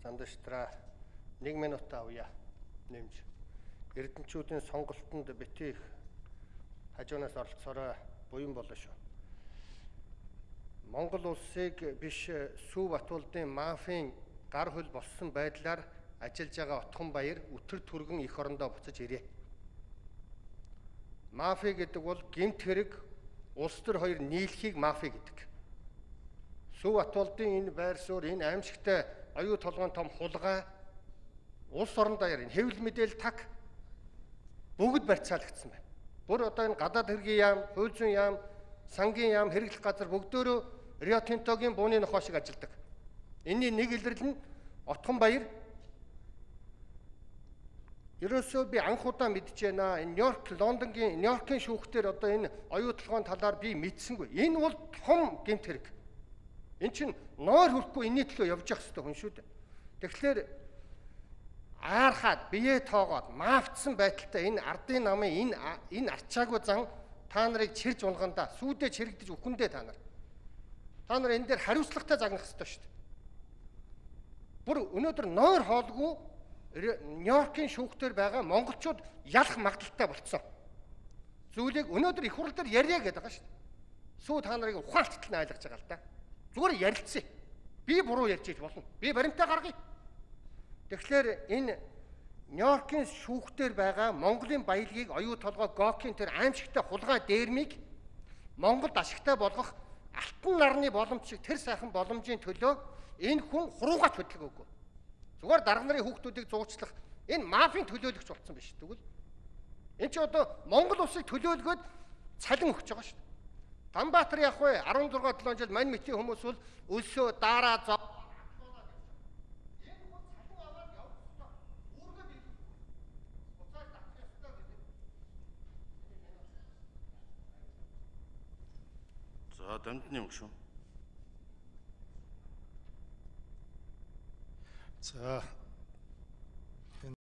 Зандаштраа 1 минут авъя нэмж. Эрдэнчүүдийн сонголтонд бити их хажуунаас оролцоорой буян болно шүү. Монгол улсыг биш Сүү Батболдын мафийн гар хөл болсон байдлаар ажиллаж байгаа Отгонбаяр өтөр түргэн эх орондоо буцаж ирээ. Мафи гэдэг бол гэмт хэрэг улс төр хоёр нийлхийг мафи гэдэг. Сүү Батболдын энэ байр суурь, энэ аимшигтай оюу толгойн том хулгай, улс орон даяар энэ хэвлэл мэдээлэл таг бүгд барьцаалагдсан байна. Бүр одоо энэ гадаад хэргийн яам, хууль зүйн яам, сангийн яам, хэрэглэх газар бүгдөө Рио Тинтогийн бууны нохоо шиг ажилдаг. Энийн нэг илрэл нь Отгонбаяр ерөөсөө би анх удаа мэдж байна. Энэ Нью-Йоркийн шүүхтэр одоо энэ оюу толгойн талаар би мэдсэнгүй. Энэ бол том гэмт хэрэг. Эн чинь нойр хүрхгүй энэний төлөө явж явах хэрэгтэй хүн шүү дээ. Тэгэхээр аархаад бие тоогоод маавцсан байдалтай энэ ардын намын энэ арчаагүй зан та нарыг чирж унгандаа сүйдээ чирэгдэж үхэндээ та нар энэ дээр хариуцлагатай загнах хэрэгтэй шүү дээ. Бүр өнөөдөр нойр хоолгүй Нью-Йоркийн шүүхтэр байгаа монголчууд ялах магадaltaй болцсон. Зүйлийг өнөөдөр их хурл дээр ярья гэдэг байгаа шүү дээ. Сүү та нарыг ухаалттай нь ойлгож байгаа л да. Зүгээр ярилцъя. Би буруу ярьж иж болно. Би баримтаа гаргая. Тэгэхээр энэ Нью-Йоркийн шүүхтэр байгаа Монголын баялагийг оюу толгой Гокийн тэр аимшигтай хулгай дээрмийг Монголд ашигтай болгох алтан нарны боломж шиг тэр сайхан боломжийн төлөө энэ хүн хуруугач хөдлөг өгөө. Зүгээр дарга нарын хүүхдүүдийг зуучлах энэ мафийн төлөөлөгч болсон биш. Тэгвэл энэ чи одоо Монгол улсыг төлөөлгөөд цалин өгч байгаа шүү дээ. Танбаатар явах вэ? 16-7 жил мань мэтийн хүмүүс бол өлсөө дараа зов. Энэ хүн цалин аваад явах ёстой. Үүргээ бий. Уцаар татах ёстой гэдэг. За дамжны юм шүү. За